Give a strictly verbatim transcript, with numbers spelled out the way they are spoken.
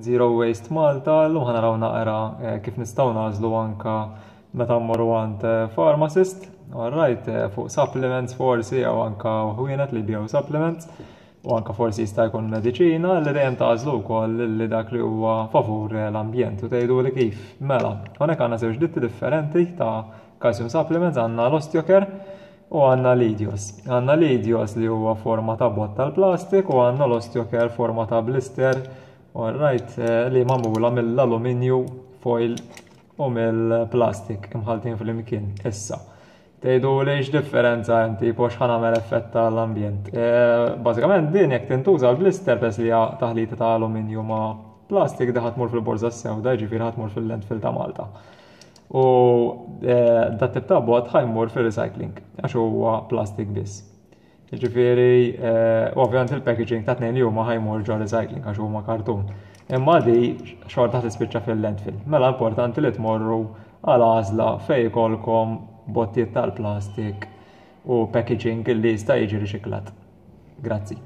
Zero Waste Malta, llum ħa naraw naqra eh, kif nistgħu nagħżlu anka meta mmorru għand eh, pharmacist, alright, eh, fuq supplements forsi jew anka ħwienet li jbigħu supplements u anka forsi jista' jkun mediċina li dejjem tagħżlu wkoll li dak li huwa favur l-ambjent u tgħidu li kif. Mela, hawnhekk għandna żewġ ditti differenti ta' calcium supplements, għandna l-Osteocare u għandna l-Idios. Għandna l-Idios li huwa forma ta' bott tal-plastik u għandna l-Osteocare forma ta' blister. Alright, eh, li magħmula mill-aluminju foil u mill-plastik imħaltin fl-imkien. Issa, tgħidu li differenza hemm, tipo x'ħa nagħmel effett tal-ambjent? Eh, bażikament din jekk tintuża l-blister, peress li hija taħlita ta' aluminju ma' plastik, di ħa tmur fil-borża sewda, ġifieri ħa tmur fil-landfill ta' Malta. U eh, dat tip ta' bott ħa jmur fil-recycling, għax huwa plastik biss. Ġifieri, eh, ovvjament il-packaging ta' tnejn li huma ħa jmur ġo recycling għax huma kartun. Imma di xorta tispiċċa fil-landfill. Mela importanti li tmorru għal għażla fejn jkollkom bottijiet tal-plastik u packaging li jista' jiġi riċiklat. Grazzi.